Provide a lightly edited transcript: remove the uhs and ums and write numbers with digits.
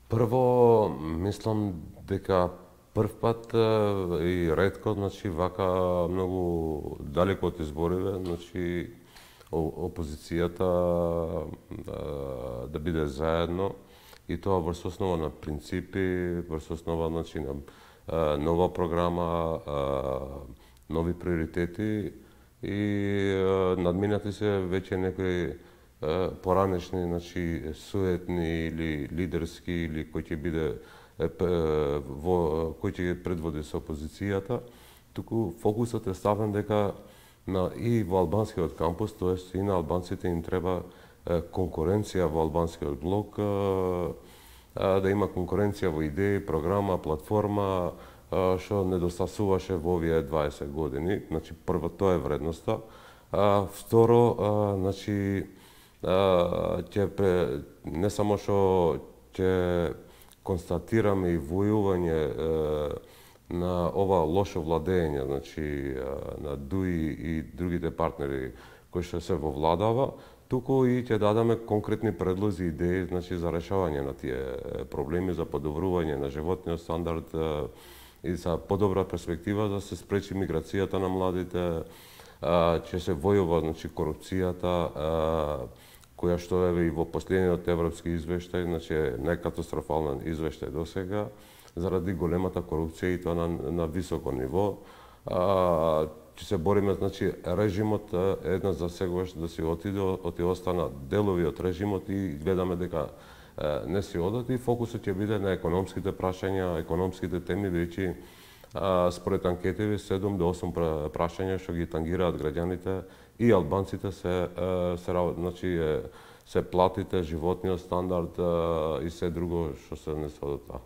Прво, мислам дека прв пат и ретко, значи вака многу далеко од избориве, значи опозицијата да биде заедно и тоа врз основа на принципи, врз основа значи на нова програма, нови приоритети и надминати се веќе некои поранешни, значи суетни или лидерски или кој ќе биде кој ќе предводи со опозицијата, туку фокусот е ставен дека и во албанскиот кампус, тоест и на албанците им треба конкуренција во албанскиот блок, да има конкуренција во идеи, програма, платформа, што недостасуваше во овие 20 години. Значи, прво тоа е вредноста. Второ, значи, не само што ќе констатираме и војување на ова лошо владење, значи на ДУИ и другите партнери кои што се во владава, туку и ќе дадеме конкретни предлози и идеи, значи за решавање на тие проблеми, за подобрување на животниот стандард и за подобра перспектива да се спречи миграцијата на младите, ќе се војува значи корупцијата, која што е и во последниот европски извештај, значи некатастрофален извештај досега, заради големата корупција и тоа на високо ниво. Ќе се бориме, значи, режимот една за сегаш да си оти остана делови од режимот и гледаме дека не си одат и фокусот ќе биде на економските прашања, економските теми, бидејќи според анкетиви 7 до 8 прашања што ги тангираат граѓаните и албанците се платите, животниот стандард и се друго што се не се од тоа.